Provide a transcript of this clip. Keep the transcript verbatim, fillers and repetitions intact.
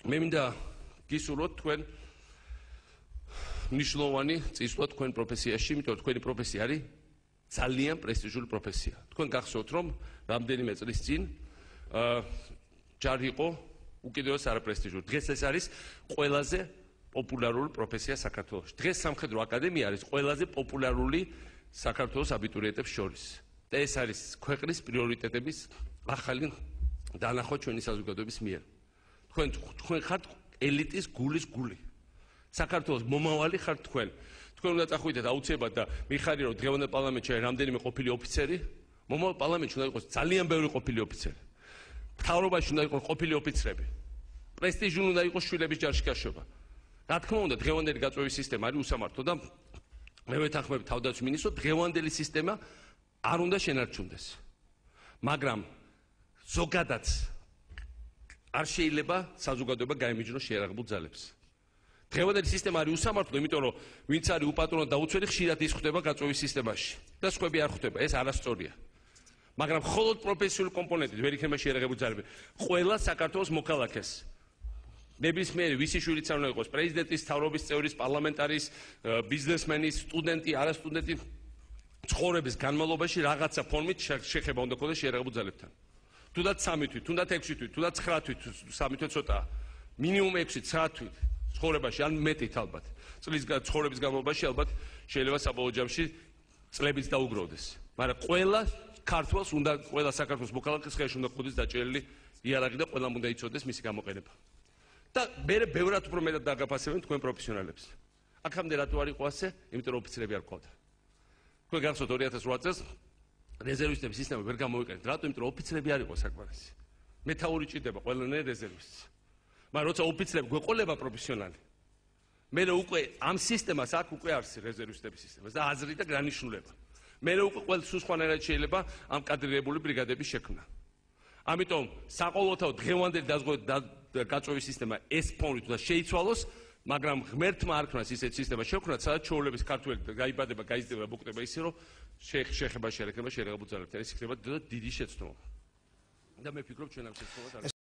მე მინდა გისურვოთ თქვენ მნიშვნელოვანი წინსვლა თქვენ პროფესიაში, იმიტომ რომ თქვენი პროფესია არის ძალიან პრესტიჟული პროფესია. თქვენ გახსოვთ, რომ რამდენიმე წლის წინ ჯარი იყო უკიდურეს არაპრესტიჟული. დღეს ეს არის ყველაზე პოპულარული პროფესია საქართველოში. დღეს სამხედრო აკადემია არის ყველაზე პოპულარული საქართველოს აბიტურიენტებს შორის. და ეს არის ქვეყნის პრიორიტეტების ახალი დანახვა ჩვენი საზოგადოების მიერ. თქვენ თქვენ ხართ ელიტის გულის გული. საქართველოს მომავალი ხართ თქვენ. თქვენ უნდა წახვიდეთ აუცილებლად და მიხარია რომ დღევანდელ პარლამენტში არის რამდენიმე ყოფილი ოფიცერი, მომავალ პარლამენტში უნდა იყოს ძალიან ბევრი ყოფილი ოფიცერი. მთავრობაში უნდა იყოს ყოფილი ოფიცრები. პრესტიჟული უნდა იყოს შვილების ჯარში გაშვება. რა თქმა უნდა, დღევანდელი გაწვევის სისტემა არის უსამართლო და მე ვეთანხმები თავდაცვის მინისტრს, დღევანდელი სისტემა არ უნდა შენარჩუნდეს. მაგრამ ზოგადად არ შეიძლება საზოგადოება გაემიჯნოს შეიარაღებულ ძალებს. დღევანდელი სისტემა არის უსამართლო, იმიტომ რომ ვინც არის უპატრონო და უცველი ხშირად ის ხვდება გაწვევის სისტემაში და სხვები არ ხვდება. ეს არასწორია. მაგრამ მხოლოდ პროფესიული კომპონენტით ვერ იქნება შეიარაღებული ძალები. ყველა საქართველოს მოქალაქეს ნებისმიერი ვისი შვილიც არ უნდა იყოს პრეზიდენტის, მთავრობის წევრის, პარლამენტარის, ბიზნესმენის, სტუდენტი, არასტუდენტი ცხოვრების განმავლობაში რაღაცა ფორმით შეხება უნდა ქონდეს შეიარაღებულ ძალებთან. თუნდაც სამი თვით, თუნდაც ექვსი თვით, თუნდაც ცხრა თვით, სამი თვით ცოტაა. მინიმუმ ექვსი ცხრა თვით ცხოვრებაში, ან მეტით ალბათ. წლის ცხოვრების განმავლობაში ალბათ შეიძლება საბოლოო ჯამში წლებიც დაუგროვდეს. მაგრამ ყველა ქართველს უნდა, ყველა საქართველოს მოქალაქეს ხელში უნდა ყოდეს დაჭერილი იარაღი და ყველამ უნდა იცოდეს მისი გამოყენება. და მე ბევრად უფრო მეტად დაგაფასებენ თქვენ პროფესიონალებს. აქამდე რატო არ იყო ასე? იმიტომ რომ ოფიცრები არ ყავდა. თქვენ გახსოვთ ორი ათას ოთხ წელს რეზერვისტების სისტემა ვერ გამოიყენეთ. რატო? იმიტომ რომ ოფიცრები არ იყო საკმარისი. მეთაური ჭირდება ყველანაირ რეზერვისტს. მაგრამ როცა ოფიცრები გვეყოლება პროფესიონალი, მე უკვე ამ სისტემას აქ უკვე არის რეზერვისტების სისტემა და აზრი და განსხვავება. მე უკვე ყველა სულ სხვანაირად შეიძლება ამ კადრირებული ბრიგადების შექმნა. ამიტომ საყოველთაოდ დღევანდელი გაწვევის სისტემა ეს ფორმით უნდა შეიცვალოს, მაგრამ ღმერთმა არ ქნას ისეთ სისტემას შევქმნათ, სადაც ჩვეულებრივ ქართველი გაიბადება, გაიზრდება, მოკვდება ისე, რომ შეხება შეერექნება შეიარაღებულ ძალებთან. ეს იქნება დიდი შეცდომა. და მე ვფიქრობ ჩვენ ამ შეცდომას